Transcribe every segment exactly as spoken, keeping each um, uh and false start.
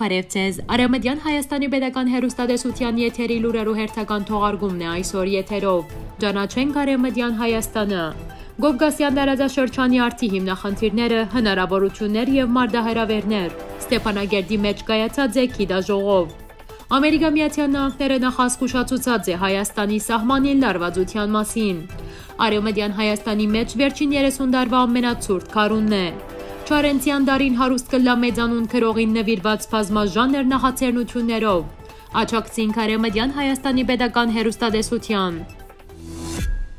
Բարեւ ձեզ։ Արեւմտեան Հայաստանի Պետական Հեռուստատեսութեան եթերի լուրերու հերթական թողարկումն է այսօր եթերով։ Ճանաչենք Արեւմտեան Հայաստանը։ Կովկասեան տարածաշրջանի արդի հիմնախնդիրները, հնարաւորութիւններ եւ մարտահրաւերներ։ Ստեփանակերտի մէջ կայացած է գիտաժողով։ Ամերիկա Միացեալ Նահանգները նախազգուշացուցած է Հայաստանի սահմանին լարուածութեան մասին։ Արեւմտեան Հայաստանի մէջ վերջին երեսուն տարուայ ամենացուրտ քարունն է։ Չարենցեան դարին հարուստ կլլայ մեծանուն գրողին նուիրուած բազմաժանր նախաձեռնութիւններով։ Աջակցին Արեւմտեան Հայաստանի Պետական Հեռուստատեսութեան։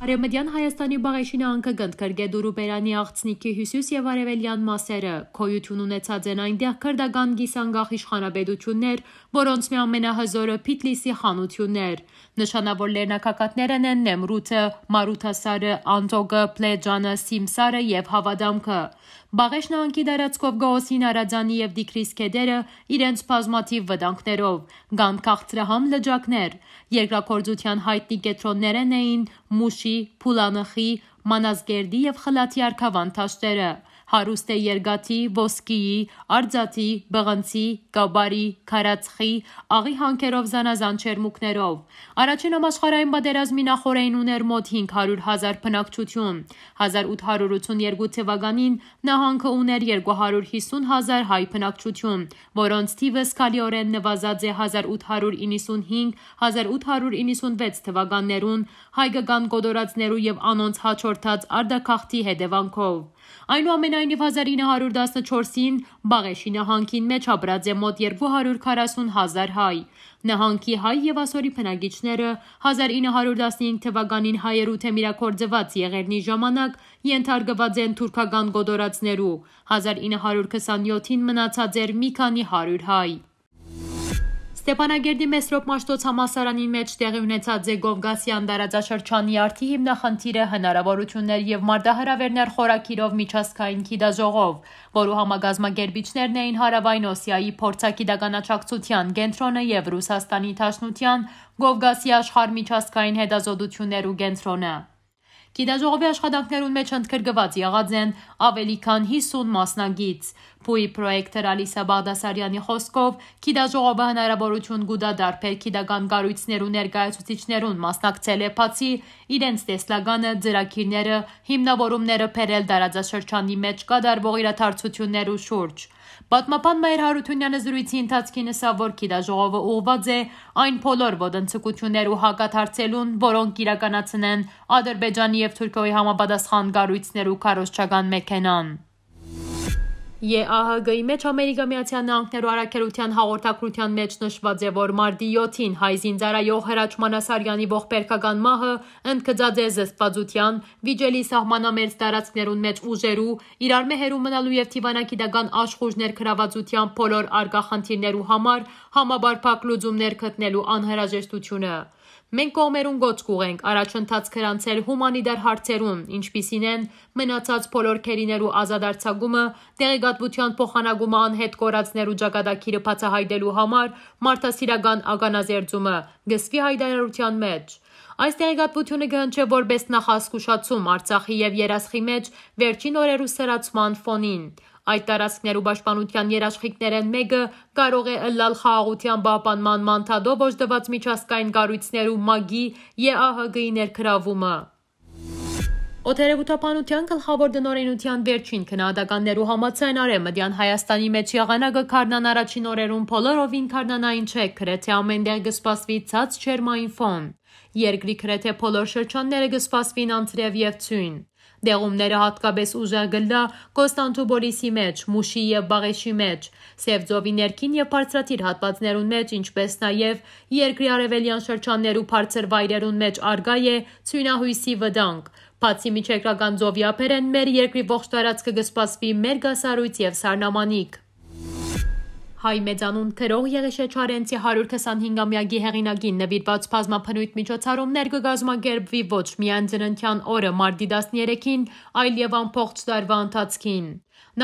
Արեւմտեան Հայաստանի Բաղեշի նահանգը կ'ընդգրկէ Դուրուբերանի աղձնիքի հիւսիս եւ արեւելեան մասերը։ Գոյութիւն ունեցած են այնտեղ քրտական կիսանկախ իշխանապետութիւններ, որոնց մէ ամենահզօրը Փիթլիսի խանութիւնն էր։ Նշանաւոր լեռնագագաթներն են Նեմրութը, Մարութասարը, Անտոկը, Պլեճանը, Սիմսարը եւ Հաւադամքը։ Բաղեշ նահանգի տարածքով կը հոսին Արաձանի եւ Տիգրիս գետերը իրենց բազմաթիւ վտանգներով, կան քաղցրահամ լճակներ։ Երկրագործութեան յայտնի կեդրոններէն էին Մուշի, Փուլանխի, Մանազկերտի եւ Խլաթի արքաւան դաշտերը։ Հարուստ է երկաթի, ոսկիի, արծաթի, պղնձի, կապարի, քարածխի, աղի հանքերով զանազան ջերմուկներով։ Առաջին համաշխարհային պատերազմի նախօրէն ուներ մօտ հինգ հարիւր հազար բնակչութիւն։ Հազար ութ հարիւր ութսուն երկու թուականին նահանգը ուներ երկու հարիւր հիսուն հազար հայ բնակչութիւն, որոնց թիւը զգալիօրէն նուազած է հազար ութ հարիւր իննսուն հինգ, հազար ութ հարիւր իննսուն վեց թուականներուն հայկական կոտորածներու եւ անոնց յաջորդած արտագաղթի հետեւանքով։ Այնուամենայնիւ, հազար ինը հարիւր տասնչորսին Բաղեշի նահանգին մէջ ապրած է մօտ երկու հարիւր քառասուն հազար հայ։ Նահանգի հայ եւ ասորի բնակիչները հազար ինը հարիւր տասնհինգ թուականին հայերու դէմ իրագործուած եղերնի ժամանակ ենթարկուած են թուրքական կոտորածներու, հազար ինը հարիւր քսանյոթին մնացած էր մի քանի հարիւր հայ։ Ստեփանակերտի Մեսրոպ Մաշտոց համալսարանին մէջ տեղի ունեցած է Կովկասեան տարածաշրջանի արդի հիմնախնդիրը, հնարաւորութիւններ եւ մարտահրաւերներ խորագիրով միջազգային գիտաժողով, որու համակազմակերպիչներն էին Հարաւային Օսիայի փորձագիտական աջակցութեան կենտրոնը եւ Ռուսաստանի Դաշնութեան Կովկասի աշխարհ միջազգային հետազոտութիւններու կենտրոնը։ Գիտաժողովի աշխատանքներուն մէջ ընդգրկուած եղած են աւելի քան հիսուն մասնակից։ Փուի պրոյեկտոր Ալիսա Բաղդասարեանի խօսքով, գիտաժողովը հնարաւորութիւն կու տայ տարբեր գիտական կառոյցներու ներկայացուցիչներուն մասնակցելէ բացի իրենց տեսլականը, ծրագիրները, հիմնավորումները բերել տարածաշրջանի մէջ կատարուող իրադարձութիւններու շուրջ։ Պատմաբան Մայր Յարութունեանը զրոյցի ընթացքին ըսաւ, որ գիտաժողովը ուղղուած է այն բոլոր ոտնձգութիւններու հակադարձելուն, որոնք իրականացնեն Ադրբեջանի եւ Թուրքիոյի համապատասխան կառոյցներու քարոզչական մեքենան։ Ե Ա Հ Կ-ի մէջ Ամերիկա Միացեալ Նահանգներու առաքելութեան հաղորդագրութեան մէջ նշուած է, որ մարտի յոթին հայ զինծառայող Հրաչ Մանասարեանի ողբերգական մահը ընդգծած է զսպվածութեան, վիճելի սահմանամերձ տարածքներուն մէջ ուժերու, իրար մէ հեռու մնալու եւ դիվանագիտական աշխուժ ներգրաւվածութեան բոլոր առկայ խնդիրներու համար համապարփակ լուծումներ գտնելու անհրաժեշտութիւնը։ Մենք կողմերուն կոչ կուղղենք առաջընթաց գրանցել հումանիտար հարցերուն, ինչպիսին են մնացած բոլոր գերիներու ազատ արձակումը, տեղեկատվութեան փոխանակումը անհետ կորածներու ճակատագիրը բացահայտելու համար մարդասիրական ականազերծումը, կ'ըսուի յայտարարութեան մէջ։ Այս տեղեկատվութիւնը կը հնչէ որպէս նախազգուշացում Արցախի եւ Երասխի մէջ վերջին օրերու սրացման ֆոնին։ Այդ տարածքներու պաշտպանութեան երաշխիքներէն մէկը կարող է ըլլալ խաղաղութեան պահպանման մանդատով օժտուած միջազգային կառոյցներու մագի Ե Ա Հ Կ-ի ներգրավումը։ Օդերեւութաբանութեան գլխաւոր տնօրէնութեան վերջին գնահատականներու համաձայն, Արեւմտեան Հայաստանի մէջ եղանակը գարնան առաջին օրերուն բոլորովին գարնանային չէ, գրեթէ ամէնտեղ կը սպասուի ցած ջերմային ֆոն։ Երկրի գրեթէ բոլոր շրջանները կը սպասուին անձրեւ եւ ձիւն։ Դեղումները յատկապէս ուժեղ կ'ըլլայ Կոստանդնուպոլիսի մէջ, Մուշի եւ Բաղեշի մէջ, Սեւ ծովի ներքին եւ բարձրադիր հատուածներուն մէջ, ինչպէս նաեւ երկրի արեւելեան շրջաններու բարձր վայրերուն մէջ առկայ է ձիւնահոյսի վտանգ։ Բացի Միջերկրական ծովի ափերէն, մեր երկրի ողջ տարածքը կը սպասուի մերկասառոյց եւ սառնամանիք։ Հայ մեծանուն գրող Եղիշէ Չարենցի հարիւր քսանհինգամեակի հեղինակին նուիրուած բազմաբնոյթ միջոցառումներ կը կազմակերպուի ոչ միայն ծննդեան օրը, մարտի տասներեքին, այլ եւ ամբողջ տարուայ ընթացքին։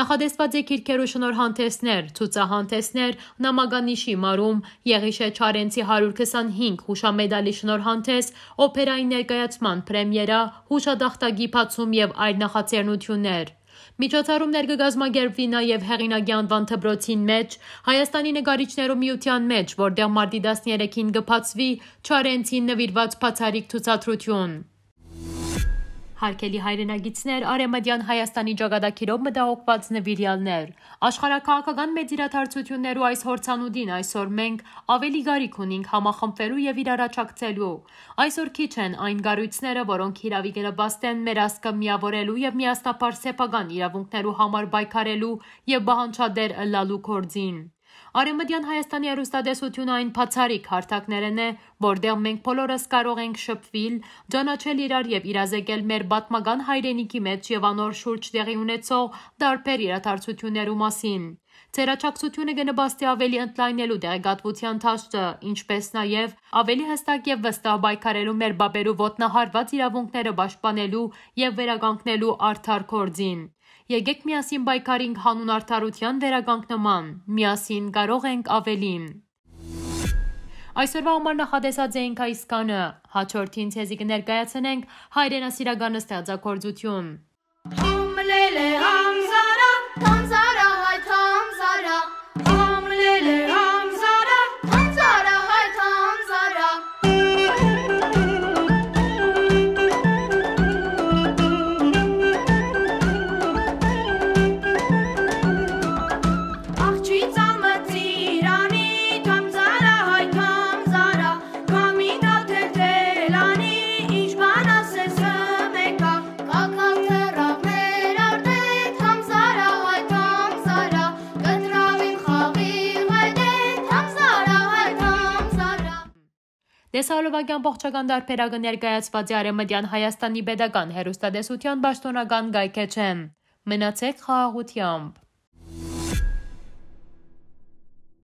Նախատեսուած է գիրքերու շնորհանդեսներ, ցուցահանդեսներ, նամականիշի մարում, Եղիշէ Չարենցի հարիւր քսանհինգ հուշամեդալի շնորհանդես, օփերային ներկայացման պրեմիերա, հուշատախտակի բացում եւ այլ նախաձեռնութիւններ։ Միջոցառումներ կը կազմակերպուի նաեւ Հեղինակի անուան դպրոցին մէջ, Հայաստանի նկարիչներու միութեան մէջ, որտեղ մարտի տասներեքին կը բացուի Չարենցին նուիրուած բացառիկ ցուցադրութիւն։ Հարգելի հայրենակիցներ, Արեւմտեան Հայաստանի ճակատագիրով մտահոգուած նուիրեալներ, աշխարհաքաղաքական մեծ իրադարձութիւններու այս հորցանուտին այսօր մենք աւելի կարիք ունինք համախմբուելու եւ իրար աջակցելու։ Այսօր քիչ են այն կառոյցները, որոնք հիրաւի կը նպաստեն մեր ազգը միաւորելու եւ միասնաբար սեփական իրաւունքներու համար պայքարելու եւ պահանջատէր ըլլալու գործին։ Արեւմտեան Հայաստանի հեռուստատեսութիւնը այն բացառիկ հարթակներէն է, որտեղ մենք բոլորս կարող ենք շփուիլ, ճանաչել իրար եւ իրազեկել մեր պատմական հայրենիքի մէջ եւ անոր շուրջ տեղի ունեցող տարբեր իրադարձութիւններու մասին։ Ձեր աջակցութիւնը կը նպաստի աւելի ընդլայնելու տեղեկատուութեան դաշտը, ինչպէս նաեւ աւելի յստակ եւ վստահ պայքարելու մեր պապերու ոտնահարուած իրաւունքները պաշտպանելու եւ վերականգնելու արդար գործին։ Եկէք միասին պայքարինք հանուն արդարութեան վերականգնման։ Միասին կարող ենք աւելին։ Այսօրվա համար նախատեսած էինք այսքանը։ Հաջորդին ձեզի կը ներկայացնենք հայրենասիրական ստեղծագործութիւն։ Համլելե համզարա, համզարա, հայ համզարա։ Համլելե համզարա, համզարա, հայ համզարա։ Աղջի ծամը ծիրանի, համզարա, հայ համզարա։ Կամի կաթել թելանի, ինչ բան ասես մեկա, կակալ թռավ մեր արտետ, համզարա, հայ համզարա, կտրավին խաղի ղայտետ, համզարա, հայ համզարա։ Տեսահոլովակեան ողջական տարբերակը ներկայացուած է Արեւմտեան Հայաստանի Պետական Հեռուստատեսութեան պաշտօնական կայքէջէն։ Մնացեք խաղաղութեամբ։